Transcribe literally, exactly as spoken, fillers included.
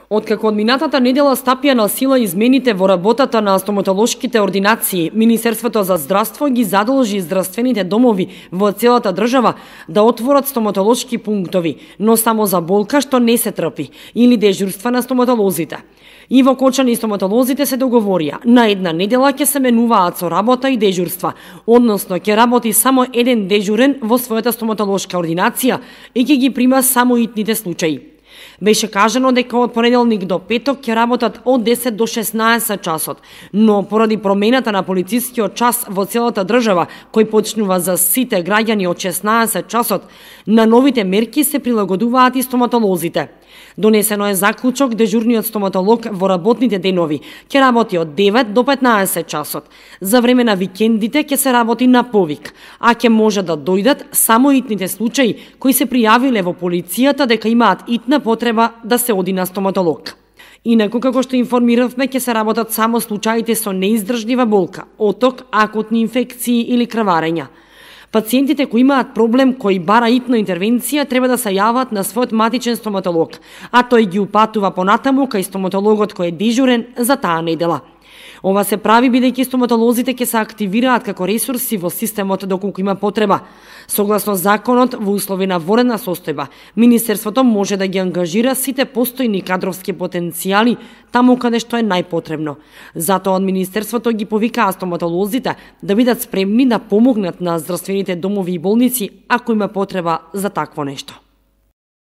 Откако од минатата недела стапија на сила измените во работата на стоматолошките ординации, Министерството за здравство ги задолжи здравствените домови во целата држава да отворат стоматолошки пунктови, но само за болка што не се трпи, или дежурства на стоматолозите. Иво Кочан и стоматолозите се договорија, на една недела ќе се менуваат со работа и дежурства, односно ќе работи само еден дежурен во својата стоматолошка ординација и ќе ги прима само итните случаи. Беше кажано дека од понеделник до петок ќе работат од десет до шеснаесет часот, но поради промената на полицискиот час во целата држава, кој почнува за сите граѓани од шеснаесет часот, на новите мерки се прилагодуваат и стоматолозите. Донесено е заклучок дежурниот стоматолог во работните денови ќе работи од девет до петнаесет часот. За време на викендите ќе се работи на повик, а ќе може да дојдат само итните случаи кои се пријавиле во полицијата дека имаат итна потреба да се оди на стоматолог. Инаку, како што информиравме, ќе се работат само случаите со неиздржлива болка, оток, акутни инфекции или крварења. Пациентите кои имаат проблем кој бара итна интервенција треба да се јават на својот матичен стоматолог, а тој ги упатува понатаму кај стоматологот кој е дежурен за таа недела. Ова се прави бидејќи стоматолозите ќе се активираат како ресурси во системот доколку има потреба. Согласно законот, во услови на воредна состојба, Министерството може да ги ангажира сите постојни кадровски потенцијали таму каде што е најпотребно. Затоа од Министерството ги повикаа стоматолозите да бидат спремни да помогнат на здравствените домови и болници ако има потреба за такво нешто.